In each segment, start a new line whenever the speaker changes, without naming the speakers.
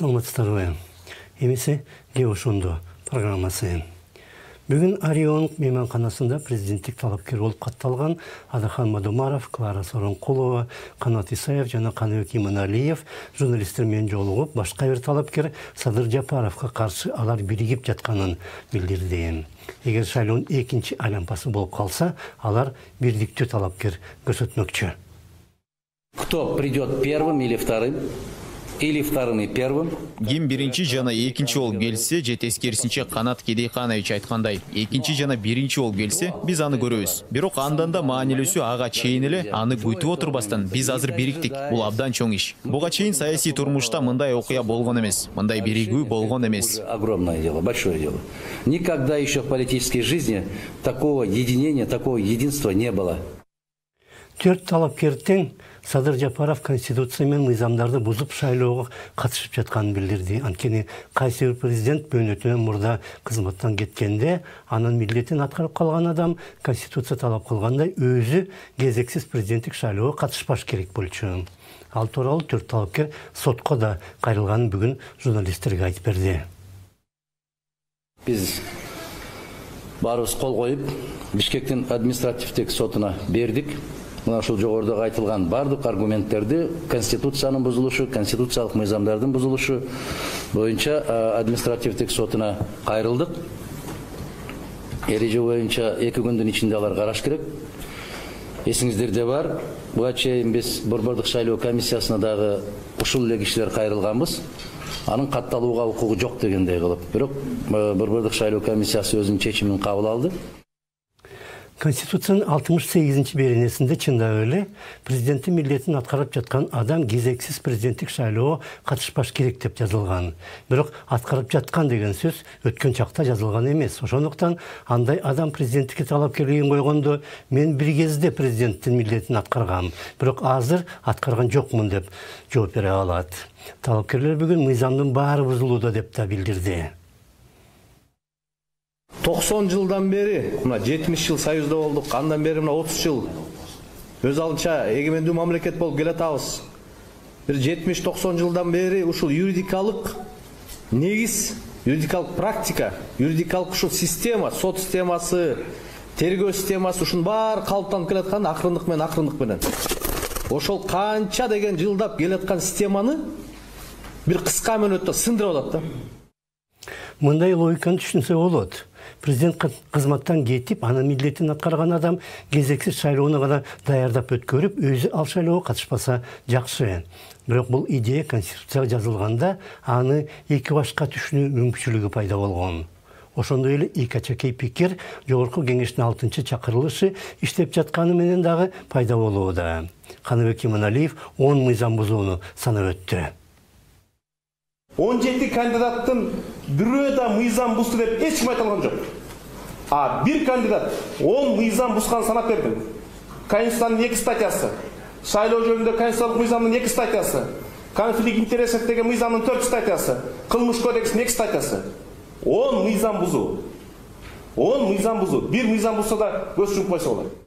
Саламатсыздарбы. Эмесе де ошондо программасы. Бүгүн Орион мейманканасында президенттик талапкер болуп катталган Адахан Мадумаров, Клара Соронкулова, Канат Исаев жана Каныбек Иманалиев журналисттер менен жолугуп, башка бир талапкер Садыр Жапаровго каршы алар биригип жатканын билдирди. Эгер шайлоонун экинчи айлампасы болуп калса, алар бирдиктүү талапкер көрсөтмөкчү.
Кто придет первым или вторым? Или вторым и первым.
Ким биринчи жана экинчи болуп келсе, же тескерисинче Канат Кедейканович айткандай, экинчи жана биринчи болуп келсе, биз аны көрөбүз. Бирок андан да маанилүүсү ага чейин эле аны күтүп отурбастан биз азыр бириктик. Бул абдан чоң иш. Буга чейин саясий турмушта мындай окуя болгон эмес, мындай биригүү болгон эмес.
Огромное дело, большое дело. Никогда еще в политической жизни такого единения, такого единства не было.
Төрт талапкер тең Садыр Жапаров конституция мен мыйзамдарды бузуп шайлоого катышып жатканын билдирди. Анткени кайсы бир президент мөөнөтүнөн мурда кызматтан кеткенде, анын милдетин аткарып калган адам конституция талап кылгандай өзү кезексиз президенттик шайлоого катышпаш керек болчу. Ал тууралуу төрт талапкер сотко да кайрылганын бүгүн журналисттерге айтып берди.
Биз баарыбыз кол коюп, Бишкектин административдик сотуна бердик. Мына ушул жогоруда айтылган бардык аргументтерди конституциянын бузулушу, конституциялык мыйзамдардын бузулушу боюнча административдик сотуна кайрылдык. Эреже боюнча 2 күндүн ичинде алар караш керек. Эсиңиздерде бар, буга чейин биз Борбордук шайлоо комиссиясына дагы ушул эле кишилер кайрылганбыз. Анын катталууга укугу жок дегендей кылып. Бирок Борбордук шайлоо комиссиясы өзүнүн чечимин кабыл алды.
Конституциянын 68-ci беренесинде чындап эле президенттин милдетин аткарып жаткан адам кезексиз президенттик шайлоого катышпаш керек деп жазылган. Бирок аткарып жаткан деген сөз өткөн чакта жазылган эмес. Ошондуктан андай адам президенттикке талапкерлигин койгондо мен бир кезде президенттин милдетин аткаргам, бирок азыр аткарган жокмун деп жооп бере алат. Талапкерлер бүгүн мыйзамдын баары бузулууда деп да билдирди.
90 жылдан бери, мына 70 жыл союзда болдук, андан бери мына 30 жыл өз алдынча эгемендүү мамлекет болуп келатабыз. Бир 70-90 жылдан бери ушул юридикалык негиз, юридикалык практика, юридикалык ушул система, сот системасы, тергөө системасы ушунун баары калыптанып келаткан акырындык менен. Ошол канча деген жылдап келаткан системаны бир кыска мөөнөттө сындырып атат да.
Мындай логиканы түшүнсө болот. Президент кызматтан кетип, анын милдетин аткарган адам кезексиз шайлоону гана даярдап өткөрүп, өзү ал шайлоого катышпаса жакшы. Бирок бул идея конституцияга жазылганда аны эки башка түшүнүү мүмкүнчүлүгү пайда болгон. Ошондой эле ИКЧК пикир жогорку кеңештин 6-чакырылышы иштеп жатканы менен дагы пайда болууда. Каныбек Иманалиев 10 мыйзам бузууну санап өттү.
17 кандидаттын бирөө да мыйзам бузду деп эч ким айта алган жок. Бир кандидат 10 мыйзам бузганын санап берди. Конституциянын 2 статьясы, шайлоо жөнүндө конституциялык мыйзамдын 2 статьясы, конфликт интересов деген мыйзамдын 4 статьясы, кылмыш кодексинин 2 статьясы. 10 мыйзам бузуу. 10 мыйзам бузуу. Бир мыйзам бузса да көз жумуп койсо болот.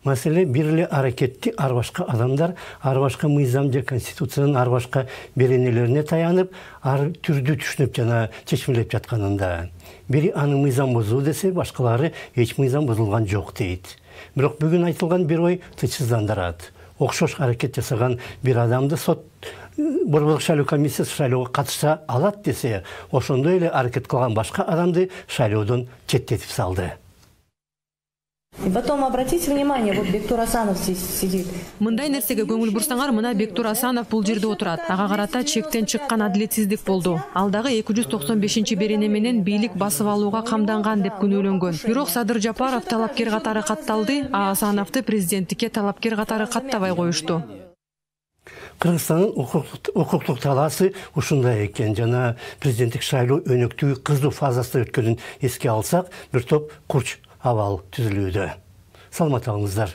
Маселе бир эле аракетти ар башка адамдар ар башка мыйзам же конституциянын ар башка беренелерине таянып, ар түрдүү түшүнүп жана чечмелеп жатканында. Бири аны мыйзам бузуу десе, башкалары эч мыйзам бузулган жок дейт. Бирок бүгүн айтылган бир ой тынчсыздандырат. Окшош аракет жасаган бир адамды сот Борбордук шайлоо комиссиясы шайлоого катыша алат десе, ошондой эле аракет кылган башка адамды шайлоодон четтетип салды.
И потом обратите внимание, вот Бектур Асанов здесь сидит.
Мындай нерсеге көңүл бурсаңар, мына Бектур Асанов бул жерде отурат. Ага карата чектен чыккан адилетсиздик болду. Ал дагы 295 берене менен бийлик басып алууга камданган деп күнөөлөнгөн. Бирок Садыр Жапаров талапкер катары катталды, а Асановду президенттикке талапкер катары каттабай коюшту.
Кыргызстандын укуктук талаасы ушундай экен. Жана президенттик шайлоо өнөктүү кызуу фазасында өткөнүн эске алсак, бир топ курч абал түзүлүүдө. Саламат болуңуздар.